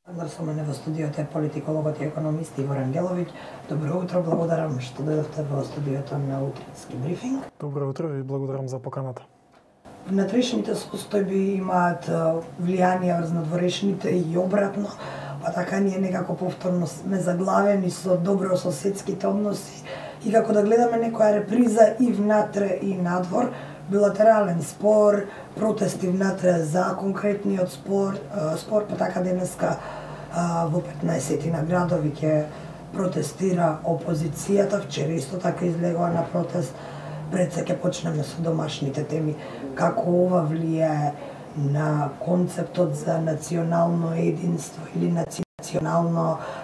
Со мене во студиото е политикологот и економист Иво Рангеловиќ. Добро утро, благодарам што дојдовте во студиото на утрински брифинг. Добро утро и благодарам за поканата. Внатрешните состојби имаат влијание врз надворешните и обратно, па така ние некако повторно сме заглавени со добрососедските односи и како да гледаме некоја реприза и внатре и надвор, билатерален спор, протести внатре за конкретниот спор, па така денеска во 15 на градови ќе протестира опозицијата, вчера исто така излегува на протест. Пред се ќе почнеме со домашните теми, како ова влијае на концептот за национално единство или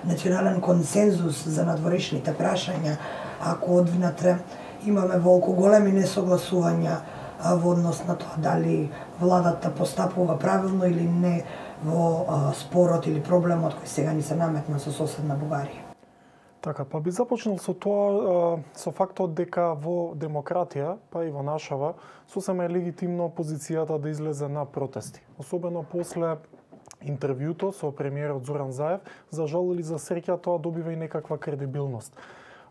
национален консензус за надворешните прашања, ако од внатре имаме волку големи несогласувања во однос на тоа дали владата постапува правилно или не во спорот или проблемот кој сега ни се наметна со соседна Бугарија. Така, па би започнал со тоа, со фактот дека во демократија, па и во нашава, сосема е легитимно опозицијата да излезе на протести. Особено после интервјуто со премиерот Зоран Заев, за жал или за среќа тоа добива и некаква кредибилност.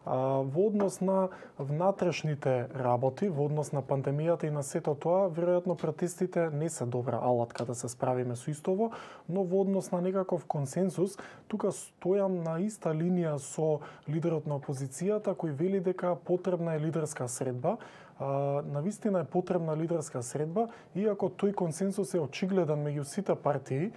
Во однос на внатрешните работи, во однос на пандемијата и на сето тоа, веројатно протестите не се добра алатка да се справиме со истово, но во однос на некаков консенсус, тука стојам на иста линија со лидерот на опозицијата кој вели дека потребна е лидерска средба. Навистина е потребна лидерска средба, иако тој консенсус е очигледен меѓу сите партии,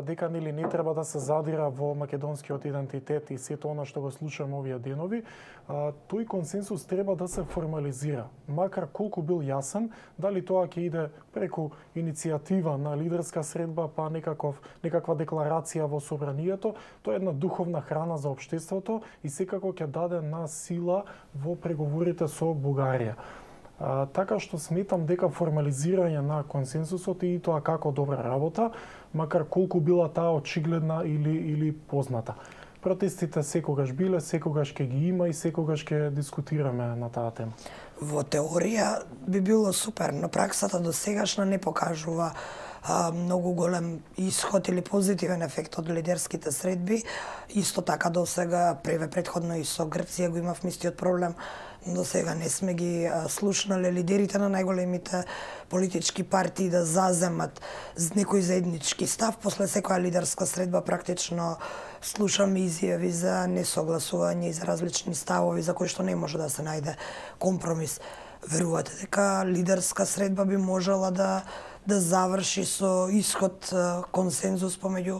дека нели не треба да се задира во македонскиот идентитет и сето она што го слушаме овие денови, тој консенсус треба да се формализира. Макар колку бил јасен, дали тоа ќе иде преку иницијатива на лидерска средба, па некаква декларација во собранието, тоа е една духовна храна за општеството и секако ќе даде на сила во преговорите со Бугарија. Така што сметам дека формализирање на консенсусот и тоа како добра работа, макар колку била таа очигледна или позната. Протестите секогаш биле, секогаш ќе ги има и секогаш ќе дискутираме на таа тема. Во теорија би било супер, но праксата до сегашна не покажува многу голем исход или позитивен ефект од лидерските средби. Исто така до сега, предходно и со Грција го имав истиот проблем. До сега не сме ги слушнале лидерите на најголемите политички партии да заземат некој заеднички став. После секоја лидерска средба практично слушаме изјави за несогласување и за различни ставови за кои што не може да се најде компромис. Верувате дека лидерска средба би можела да заврши со исход консензус помеѓу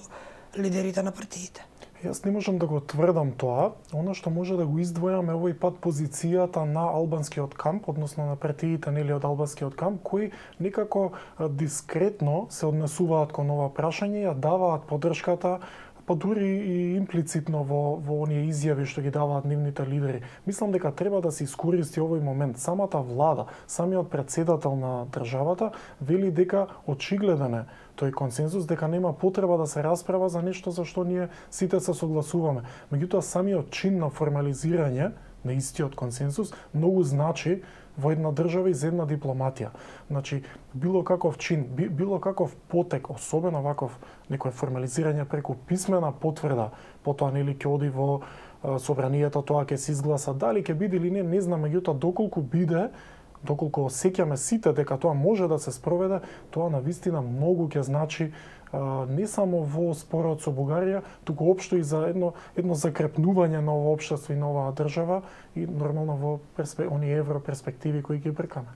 лидерите на партиите? Јас не можам да го тврдам тоа. Она што може да го издвојам е овој пат позицијата на албанскиот камп, односно на партиите нели од албанскиот камп, кои некако дискретно се однесуваат кон ова прашање, ја даваат поддршката, па дури и имплицитно во оние изјави што ги даваат нивните лидери. Мислам дека треба да се искористи овој момент. Самата влада, самиот претседател на државата вели дека очигледен е тој консензус, дека нема потреба да се расправа за нешто за што ние сите се согласуваме. Меѓутоа, самиот чин на формализирање на истиот консензус многу значи во една држава и за една дипломатија. Значи, било каков чин, било каков потек, особено ваков некој формализирање преку писмена потврда, потоа нели ќе оди во собранието, тоа ќе се изгласа, дали ќе биде или не знам, меѓутоа доколку биде, доколку осеќаме сите дека тоа може да се спроведе, тоа навистина многу ќе значи не само во спорот со Бугарија, туку општо и за едно закрепнување на ова општество и на оваа држава и нормално во оние европерспективи кои ги бркаме.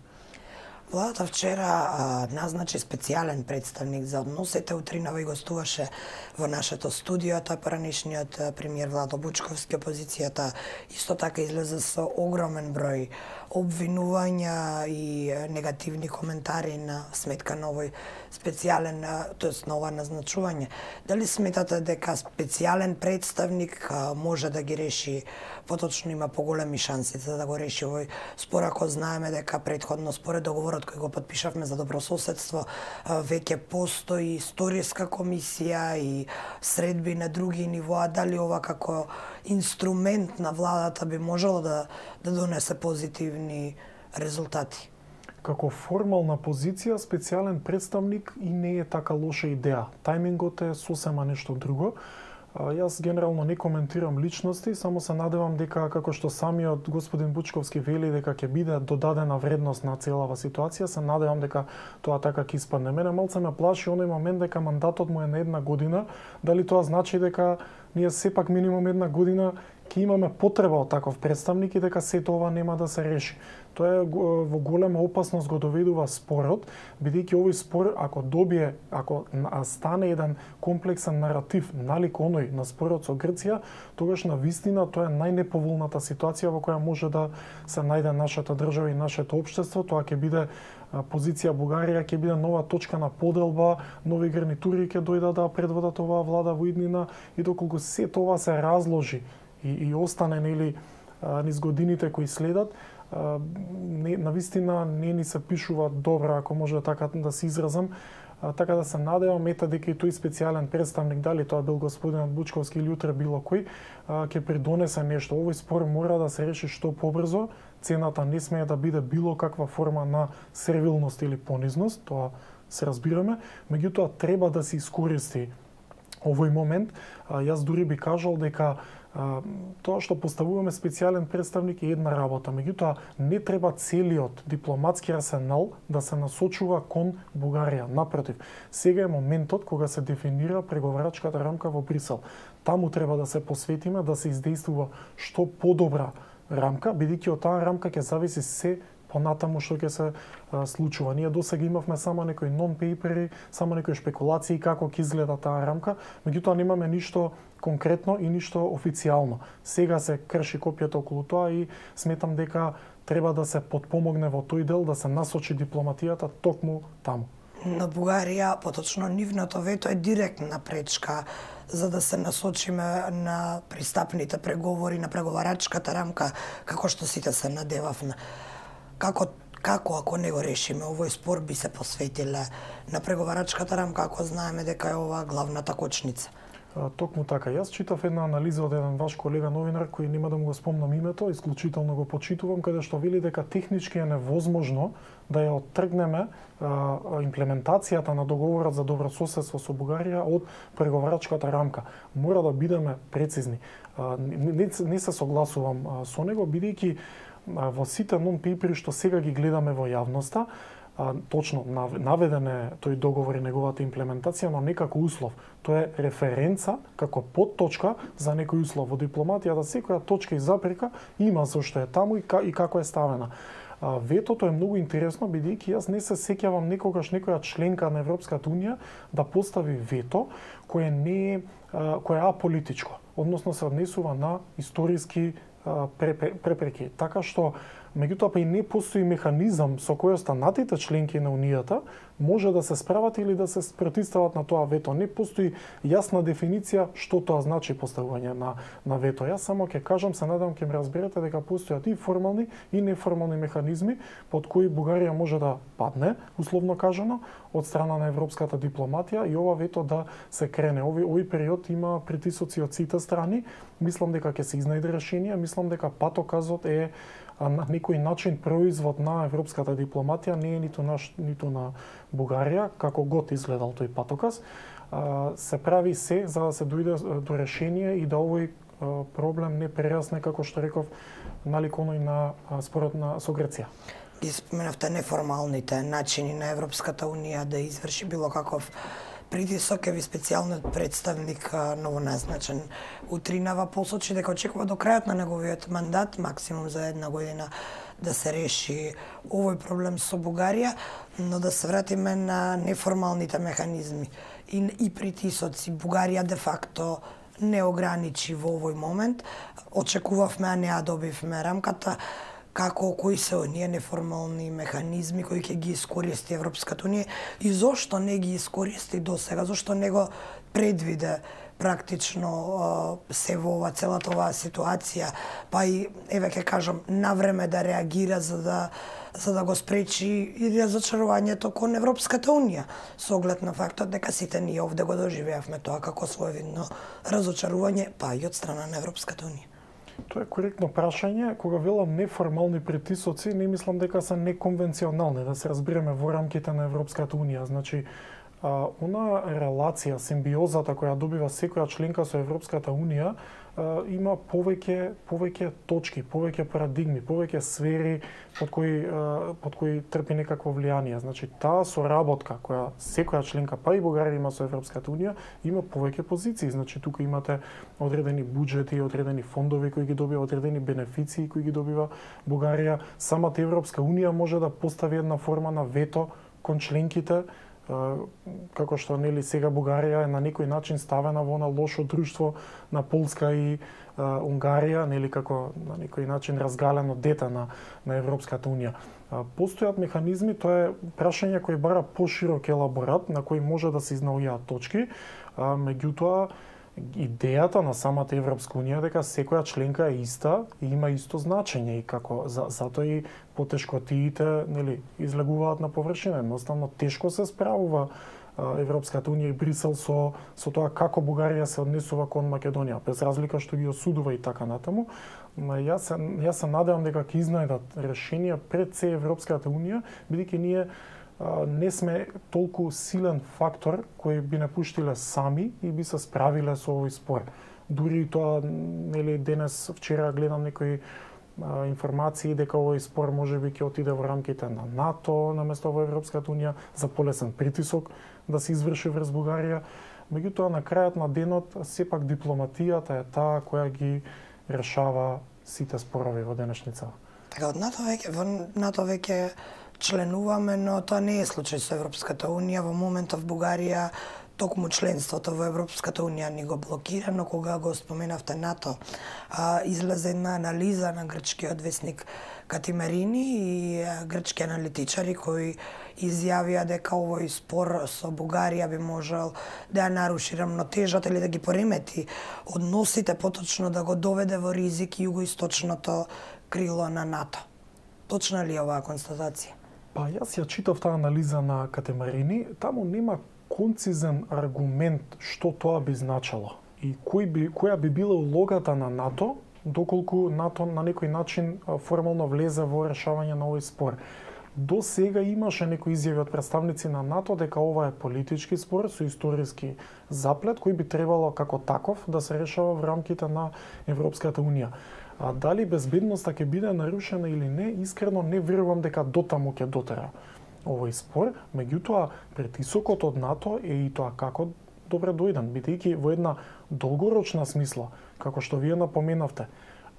Владата вчера назначи специјален представник за односите. Утринава и гостуваше во нашето студио, тој поранешниот премиер Владо Бучковски. Опозицијата исто така излезе со огромен број обвинувања и негативни коментари на сметка на овој специјален, тоест на ова назначување. Дали сметате дека специјален представник може да ги реши, поточно има поголеми шанси да го реши овој спор, ако знаеме дека предходно според договорот кој го подпишавме за добрососедство веќе постои историска комисија и средби на други нивоа, дали ова како инструмент на владата би можело да донесе позитивни резултати? Како формална позиција, специјален представник и не е така лоша идеја. Тајмингот е сосема нешто друго. Јас генерално не коментирам личности, само се надевам дека, како што самиот господин Бучковски вели дека ќе биде додадена вредност на целава ситуација, се надевам дека тоа така ќе испадне. Мене малце ме плаши оној момент дека мандатот му е на 1 година, дали тоа значи дека ние сепак минимум 1 година ќе имаме потреба од таков представник и дека сето ова нема да се реши. Тоа е во голема опасност го доведува спорот, бидејќи овој спор ако стане еден комплексен наратив налик оној на спорот со Грција, тогаш на вистина тоа е најнеповолната ситуација во која може да се најде нашата држава и нашето општество. Тоа ќе биде позиција Бугарија, ќе биде нова точка на поделба, нови гарнитури ќе дојдат да предводат оваа влада во иднина и доколку сето ова се разложи и остане низ годините кои следат, на вистина не ни се пишува добро, ако може така да се изразам, така да се надевам дека и тој специјален представник, дали тоа бил господинот Бучковски или утре било кој, ќе придонесе нешто. Овој спор мора да се реши што побрзо. Цената не смее да биде било каква форма на сервилност или понизност, тоа се разбираме, меѓутоа треба да се искористи овој момент. Јас дури би кажал дека тоа што поставуваме специјален представник е една работа, меѓутоа не треба целиот дипломатски арсенал да се насочува кон Бугарија. Напротив, сега е моментот кога се дефинира преговарачката рамка во Брисел. Таму треба да се посветиме, да се издействува што подобра рамка, бидејќи од таа рамка ќе зависи се понатаму што ќе се случува. Ние досега имавме само некои нон-пейпери, само некои шпекулации како ќе изгледа таа рамка, меѓутоа немаме ништо конкретно и ништо официјално. Сега се крши копјата околу тоа и сметам дека треба да се потпомогне во тој дел, да се насочи дипломатијата токму таму. На Бугарија, поточно нивното вето е директна пречка за да се насочиме на пристапните преговори, на преговарачката рамка, како што сите се надевавме. Како ако не го решиме овој спор би се посветиле на преговарачката рамка, ако знаеме дека е ова главната кочница? Токму така. Јас читав една анализа од еден ваш колега новинар кој нема да му го спомнам името, исклучително го почитувам, каде што вели дека технички е невозможно да ја оттргнеме имплементацијата на договорот за добрососедство со Бугарија од преговарачката рамка. Мора да бидеме прецизни. Не се согласувам со него, бидејќи во сите нон-пейпери што сега ги гледаме во јавноста, точно наведен е тој договор и неговата имплементација, но не како услов. Тоа е референца како подточка за некој услов. Во дипломатијата секоја точка и запрека има зашто е таму и како е ставена. Ветото е многу интересно, бидејќи јас не се сеќавам некогаш некоја членка на Европската унија да постави вето кое е аполитичко, односно се однесува на историски препреки. Така што, меѓутоа па и не постои механизам со кој останатите членки на Унијата може да се справат или да се противстават на тоа вето. Не постои јасна дефиниција што тоа значи поставување на вето. Јас само ќе кажам, се надам ќе ме разберете дека постојат и формални и неформални механизми под кои Бугарија може да падне, условно кажано, од страна на европската дипломатија и ова вето да се крене. Овој период има притисоци од сите страни. Мислам дека ќе се изнајде решение, мислам дека патоказот е на некој начин производ на европската дипломатија, не е ниту на Бугарија, како год изгледал тој патоказ. Се прави се за да се дојде до решение и да овој проблем не прерасне, како што реков, налик оној на спорот со Грција. Ги споменавте неформалните начини на Европската унија да изврши било каков притисок. Еви специјалниот представник новоназначен утринава посочи дека очекува до крајот на неговиот мандат, максимум за 1 година, да се реши овој проблем со Бугарија, но да се вратиме на неформалните механизми и притисоци. Бугарија де факто не ограничи во овој момент. Очекувавме, а не ја добивме рамката. Кои се оние неформални механизми кои ќе ги искористи Европската унија и зошто не ги искористи досега, зошто не го предвиде практично се во целата оваа ситуација, па и еве ќе кажам навреме да реагира за да го спречи и разочарувањето кон Европската унија, со оглед на фактот дека сите ние овде го доживеавме тоа како своевидно разочарување, па и од страна на Европската унија. Тоа е коректно прашање. Кога велам неформални притисоци, не мислам дека се неконвенционални, да се разбереме во рамките на Европската унија. Значи, она релација, симбиозата која добива секоја членка со Европската унија, има повеќе точки, повеќе парадигми, повеќе сфери под кои трпи некакво влијание. Значи, таа соработка која секоја членка, па и Бугарија има со Европската унија, има повеќе позиции. Значи, тука имате одредени буџети, одредени фондови кои ги добива, одредени бенефиции кои ги добива Бугарија. Самата Европска унија може да постави една форма на вето кон членките, како што нели сега Бугарија е на некој начин ставена во на лошо друштво на Полска и Унгарија, нели како на некој начин разгалено дете на Европската унија. Постојат механизми, тоа е прашање кој бара поширок елаборат на кој може да се изнаоѓаат точки, меѓутоа идејата на самата Европска унија дека секоја членка е иста и има исто значење и како затоа и потешкотиите нели излегуваат на површина. Едноставно тешко се справува Европската унија и Брисел со тоа како Бугарија се однесува кон Македонија, без разлика што ги осудува и така натаму. Јас се надевам дека ќе изнајдат решенија пред се Европската унија, бидејќи ние не сме толку силен фактор кој би не пуштиле сами и би се справиле со овој спор. Дури и тоа, нели, денес, вчера гледам некои информации дека овој спор можеби ќе отиде во рамките на НАТО наместо во Европската унија за полесен притисок да се изврши врз Бугарија. Меѓутоа, на крајот на денот, сепак дипломатијата е таа која ги решава сите спорови во денешница. Така, во НАТО веќе членуваме, но тоа не е случај со Европската унија. Во моментов Бугарија токму членството во Европската унија ни го блокира, но кога го споменавте НАТО, излезе една анализа на грчкиот весник Катимерини и грчки аналитичари кои изјавија дека овој спор со Бугарија би можел да ја наруши рамнотежата или да ги поремети односите, поточно да го доведе во ризик југоисточното крило на НАТО. Точна ли е оваа констатација? Па јас ја читав таа анализа на Катемарини, таму нема концизен аргумент што тоа би значело и која би била улогата на НАТО доколку НАТО на некој начин формално влезе во решавање на овој спор. До сега имаше некои изјави од представници на НАТО дека ова е политички спор со историски заплет кој би требало како таков да се решава во рамките на Европската унија. А дали безбедноста ќе биде нарушена или не, искрено не верувам дека дотаму ќе дотера овој спор, меѓутоа притисокот од НАТО е и тоа како добре дојден, бидејќи во една долгорочна смисла, како што вие напоменавте,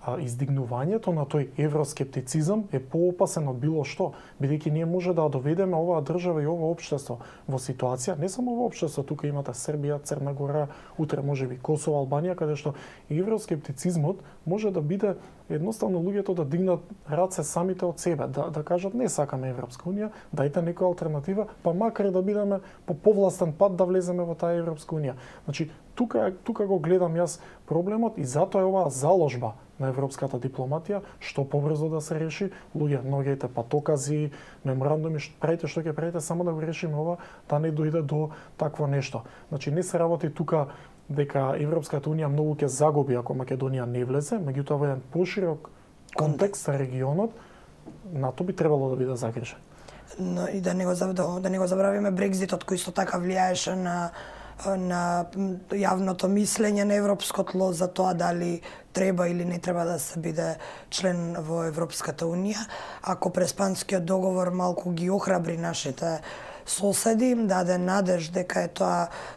издигнувањето на тој евроскептицизам е поопасен од било што, бидејќи ние може да доведеме оваа држава и ова општество во ситуација, не само во општество, тука имате Србија, Црна Гора, утре можеби Косово, Албанија, каде што евроскептицизмот може да биде едноставно луѓето да дигнат раце самите од себе, да кажат не сакаме Европска унија, дајте некоја алтернатива, па макар да бидеме по повластен пат да влеземе во таа Европска унија. Значи, тука го гледам јас проблемот и затоа е оваа заложба на европската дипломатија, што побрзо да се реши, луѓе, ногите патокази, меморандуми, правите што ќе правите, само да го решиме ова, да не дојде до такво нешто. Значи, не се работи тука дека Европската унија многу ќе загуби ако Македонија не влезе, меѓутоа во еден поширок контекст на регионот, НАТО би требало да биде загрижен. Но и да не го забравиме Брекзитот кој исто така влијаеше на јавното мислење на европско тло за тоа дали треба или не треба да се биде член во Европската унија. Ако Преспанскиот договор малку ги охрабри нашите соседи, им даде надеж дека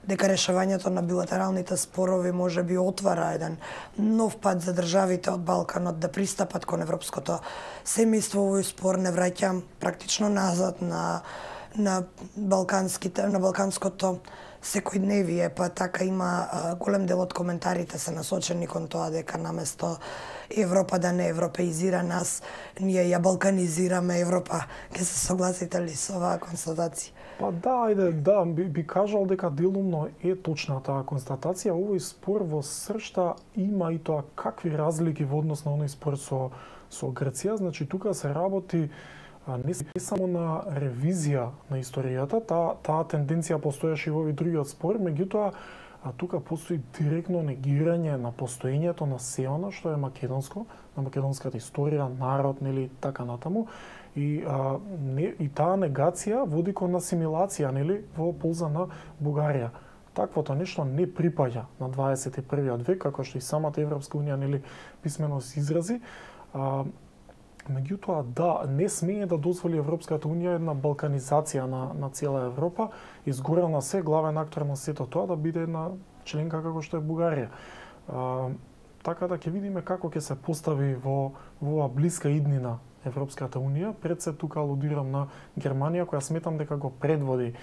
решавањето на билатералните спорови може би отвара еден нов пат за државите од Балканот да пристапат кон европското семејство. Овој спор не враќа практично назад на балканското секојдневие, па така има голем дел од коментарите се насочени кон тоа дека наместо Европа да не европеизира нас, ние ја балканизираме Европа. Ке се согласите ли со оваа констатација? Па да, би кажал дека делумно е точна таа констатација. Овој спор во сршта има и тоа какви разлики во однос на оној спор со Грција. Значи, тука се работи не само на ревизија на историјата, таа тенденција постоеше и во овој другиот спор, меѓутоа а тука постои директно негирање на постоењето на сѐ она што е македонско, на македонската историја, народ, нели, така натаму. И таа негација води кон асимилација, нели, во полза на Бугарија. Таквото нешто не припаѓа на 21. век, како што и самата Европска унија, нели, писмено се изрази. Меѓутоа, да, не смее да дозволи Европската унија една балканизација на цела Европа, изгорена се главен актор на сето тоа да биде една членка како што е Бугарија. Така да ќе видиме како ќе се постави во оваа блиска иднина Европската унија. Пред се тука алудирам на Германија, која сметам дека го предводи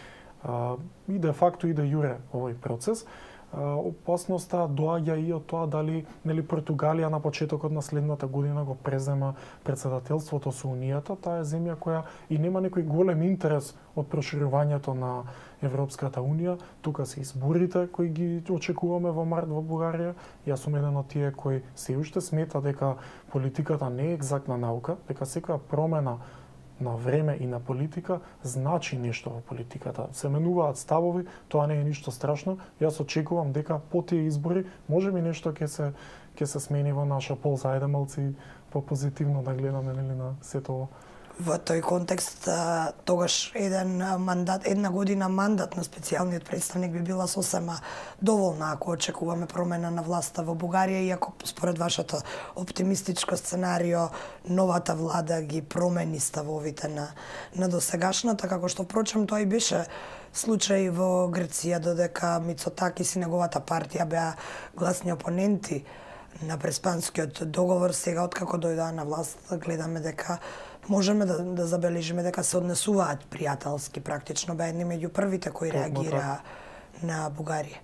и де факто и де јуре овој процес. Опасноста доаѓа и од тоа дали, нели, Португалија на почетокот на следната година го презема претседателството со Унијата. Таа е земја која и нема некој голем интерес од проширувањето на Европската унија. Тука се изборите кои ги очекуваме во март во Бугарија. Јас сум еден од тие кои се уште смета дека политиката не е екзактна наука, дека секоја промена на време и на политика значи нешто во политиката. Се менуваат ставови, тоа не е ништо страшно. Јас очекувам дека по тие избори можеби нешто ќе се смени во наша полза. Ајде малци попозитивно да гледаме, нели, на сето ово. Во тој контекст, тогаш една година мандат на специјалниот представник би била сосема доволна ако очекуваме промена на власта во Бугарија, иако според вашето оптимистичко сценарио новата влада ги промени ставовите на досегашната, како што впрочем тоа и беше случај во Грција, додека Мицотакис и неговата партија беа гласни опоненти на Преспанскиот договор. Сега, откако дојдоа на власт, гледаме дека можеме да забележиме дека се однесуваат пријателски, практично беа едни меѓу првите кои реагираа на Бугарија.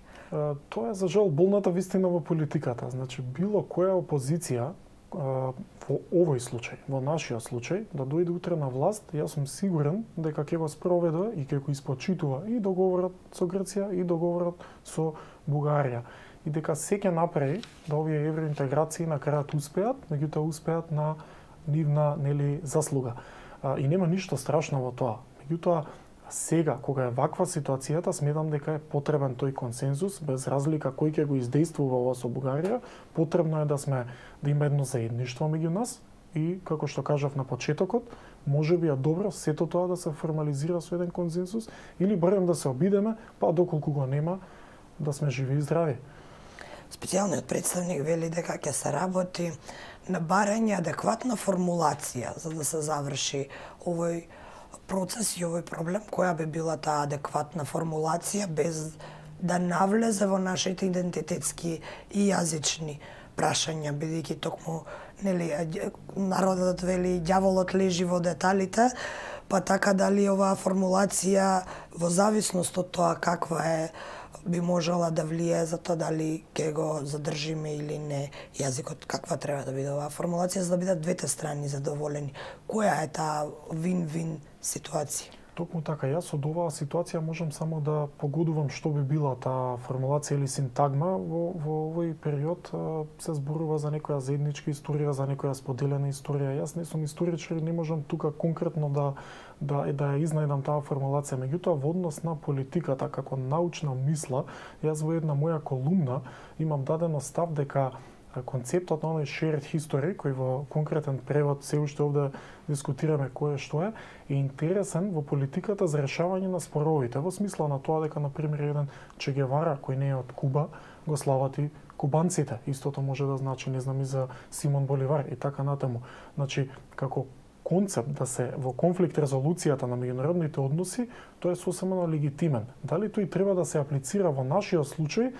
Тоа е за жал болната вистина во политиката. Значи, било која опозиција во овој случај, во нашиот случај, да дојде утре на власт, јас сум сигурен дека ќе го спроведе и ќе го испочитува и договорот со Грција и договорот со Бугарија. И дека се ќе направи да овие евроинтеграции на крајот успеат, меѓутоа успеат на нивна, нели, заслуга. И нема ништо страшно во тоа. Меѓутоа, сега, кога е ваква ситуацијата, сметам дека е потребен тој консензус, без разлика кој ќе го издействува ова со Бугарија. Потребно е да има едно заедништво меѓу нас и, како што кажав на почетокот, можеби е добро сето тоа да се формализира со еден консензус или барем да се обидеме, па доколку го нема, да сме живи и здрави. Специјалниот представник вели дека ќе се работи на барање адекватна формулација за да се заврши овој процес и овој проблем. Која би била таа адекватна формулација без да навлезе во нашите идентитетски и јазични прашања, бидејќи токму, нели, народот вели ѓаволот лежи во деталите, па така дали оваа формулација во зависност од тоа каква е би можела да влие за тоа дали ќе го задржиме или не јазикот, каква треба да биде оваа формулација за да бидат двете страни задоволени. Која е таа вин-вин ситуација? Токму така, јас од оваа ситуација можам само да погодувам што би била таа формулација или синтагма. Во овој период се зборува за некоја заедничка историја, за некоја споделена историја. Јас не сум историчар и не можам тука конкретно да ја изнајдам таа формулација. Меѓутоа, во однос на политиката како научна мисла, јас во една моја колумна имам дадено став дека концептот на оној shared history, кој во конкретен превод се уште овде дискутираме кој е што е интересен во политиката за решавање на споровите, во смисла на тоа дека, например, еден Че Гевара, кој не е од Куба, го славати кубанците. Истото може да значи, не знам, и за Симон Боливар и така натаму. Значи, како концепт да се во конфликт резолуцијата на меѓународните односи, тој е сосема легитимен. Дали тој треба да се аплицира во нашиот случај,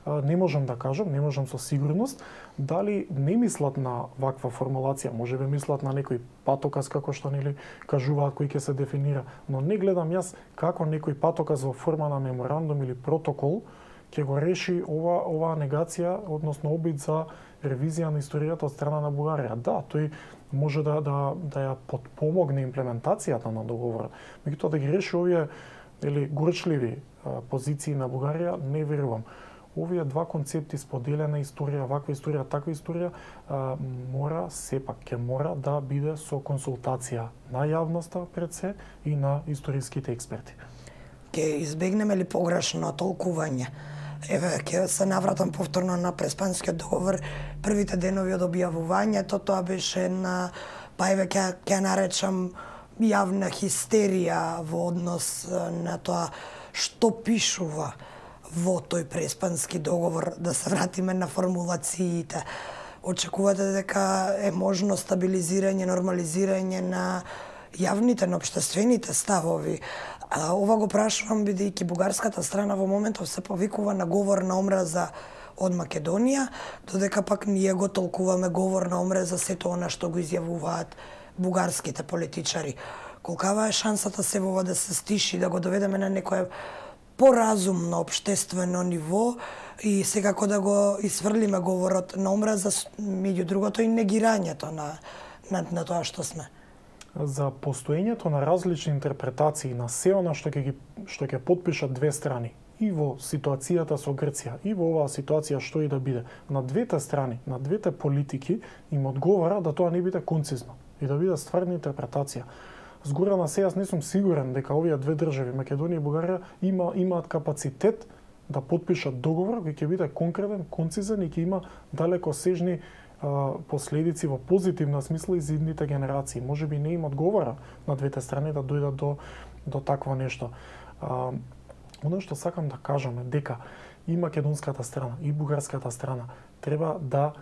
не можам да кажам, не можам со сигурност. Дали не мислат на ваква формулација, може би мислат на некој патоказ како што нели кажуваат кој ќе се дефинира, но не гледам јас како некој патоказ во форма на меморандум или протокол ќе го реши оваа негација, односно обид за ревизија на историјата од страна на Бугарија. Да, тој може да ја подпомогне имплементацијата на договорот. Меѓутоа да ги реши овие горчливи позиции на Бугарија, не верувам. Овие два концепти, споделена историја, ваква историја, таква историја, ќе мора да биде со консултација на јавноста пред се и на историските експерти. Ќе избегнеме ли погрешно толкување Еве, ќе се навратам повторно на Преспанскиот договор. Првите денови од објавувањето, тоа беше на, па еве ќе наречам, јавна хистерија во однос на тоа што пишува во тој Преспански договор, да се вратиме на формулациите. Очекувате дека е можно стабилизирање, нормализирање на јавните, на општествените ставови? Ова го прашувам бидејќи бугарската страна во моментов се повикува на говор на омраза од Македонија, додека пак ние го толкуваме говор на омраза сето она што го изјавуваат бугарските политичари. Колкава е шансата се во ова да се стиши, да го доведеме на некое поразумно општествено ниво и секако да го исфрлиме говорот на омраза, меѓу другото и негирањето на тоа што сме. За постоењето на различни интерпретации на се она што ќе потпишат две страни, и во ситуацијата со Грција, и во оваа ситуација што и да биде, на двете страни, на двете политики им одговара да тоа не биде концизно и да биде стварна интерпретација. Згора на се, јас не сум сигурен дека овие две држави, Македонија и Бугарија, имаат капацитет да потпишат договор кој ќе биде конкретен, концизен и ќе има далеко сежни последици во позитивна смисла и за идните генерации. Може би не им одговара на двете страни да дојдат до такво нешто. Оно што сакам да кажам е дека и македонската страна, и бугарската страна треба да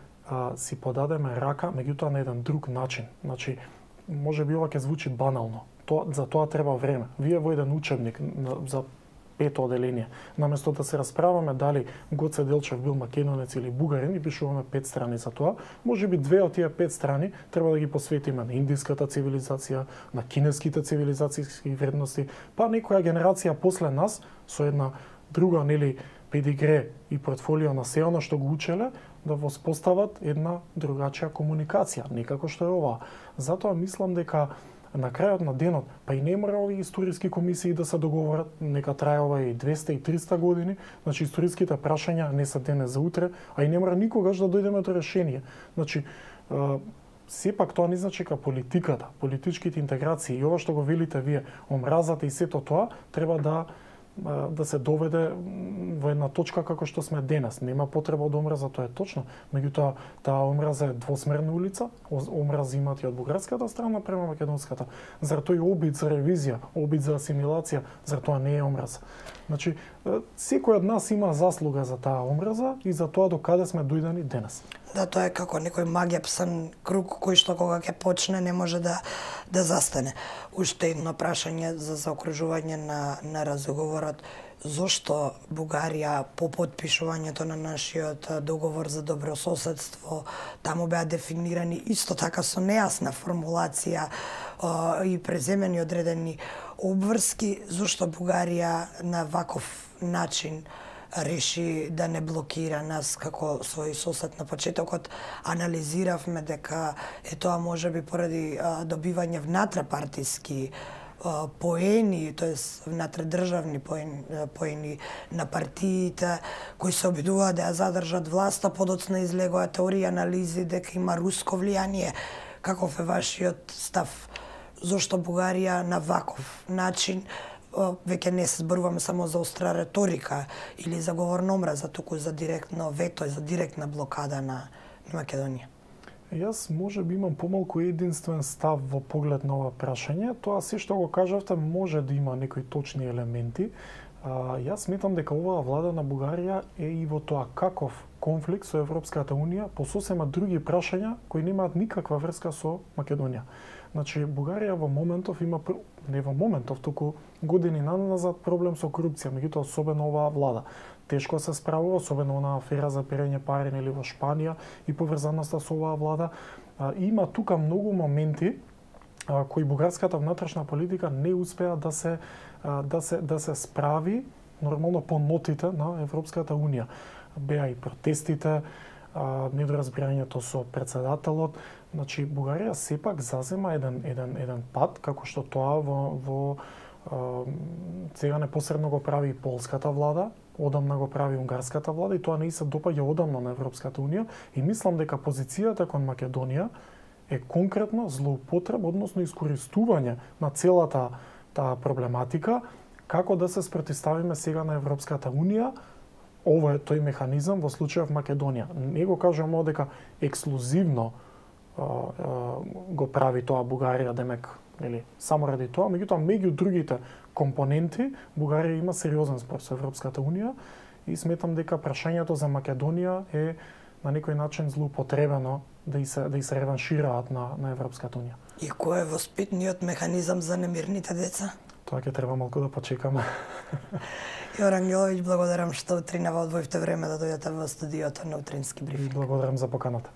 си подадеме рака, меѓутоа на еден друг начин. Значи, може би ова ќе звучи банално. За тоа треба време. Вие во еден учебник за пето оделение, наместо да се расправаме дали Гоце Делчев бил македонец или бугарин и пишуваме 5 страни за тоа, може би 2 од тие 5 страни треба да ги посветиме на индиската цивилизација, на кинеските цивилизацијски вредности, па некоја генерација после нас со една друга, нели, педигре и портфолио на се она што го учеле, да воспостават една другачија комуникација, некако што е ова. Затоа мислам дека на крајот на денот, па и не мора овие историски комисии да се договорат, нека трае ова и 200 и 300 години, значи историските прашања не се денес за утре, а и не мора никогаш да дојдеме до решение. Значи, сепак тоа не значи дека политиката, политичките интеграции и ова што го велите вие, омразата и сето тоа, треба да се доведе во една точка како што сме денес. Нема потреба од омраза, тоа е точно. Меѓутоа, таа омраза е двосмерна улица, омраз имат и од бугарската страна према македонската. Зар тој обид за ревизија, обид за асимилација, зар тоа не е омраза? Значи, секој од нас има заслуга за таа омраза и за тоа до каде сме дојдени денес. Да, тоа е како некој магијапсан круг кој што кога ќе почне не може да застане. Уште едно прашање за заокружување на разговорот. Зошто Бугарија по потпишувањето на нашиот договор за добрососедство, таму беа дефинирани исто така со нејасна формулација и преземени одредени обврски, зошто Бугарија на ваков начин реши да не блокира нас како свој сосед на почетокот. Анализиравме дека тоа можеби поради добивање внатре-партиски поени, тоест внатредржавни поени на партиите кои се обидуваат да ја задржат власта, подоцна излегоа теории, анализи дека има руско влијание. Каков е вашиот став? Зошто Бугарија на ваков начин, веќе не се зборуваме само за остра реторика или за говор на омраза, туку за директно вето и за директна блокада на Македонија? Јас може би имам помалку единствен став во поглед на ова прашање. Тоа се што го кажавте може да има некои точни елементи. Јас сметам дека оваа влада на Бугарија е и во тоа каков конфликт со Европската Унија по сосема други прашања кои немаат никаква врска со Македонија. Значи, Бугарија во моментов има, не во моментов, туку години назад проблем со корупција, меѓутоа особено оваа влада тешко се справува, особено на афера за перење пари или во Шпанија и поврзаноста со оваа влада. Има тука многу моменти кои бугарската внатрешна политика не успеа да се справи нормално по нотите на Европската Унија. Беа и протестите, недоразбирањето со председателот. Значи, Бугарија сепак зазема еден пат, како што тоа во сега непосредно го прави и полската влада, одамна го прави унгарската влада и тоа не се допаѓа одамна на Европската Унија и мислам дека позицијата кон Македонија е конкретно злоупотреба, односно искористување на целата таа проблематика, како да се спротивставиме сега на Европската Унија, ова е тој механизам во случајов Македонија. Не го кажувам дека ексклузивно го прави тоа Бугарија, демек, нели, само ради тоа, меѓутоа меѓу другите компоненти Бугарија има сериозен спор со Европската унија и сметам дека прашањето за Македонија е на некој начин злоупотребено да и се реваншираат на Европската унија. И кој е воспитниот механизам за немирните деца? Тоа ќе треба малку да почекаме. Јора Ангеловиќ, благодарам што утринава одвоивте време да дојдете во студиото на Утрински брифинг. Благодарам за поканата.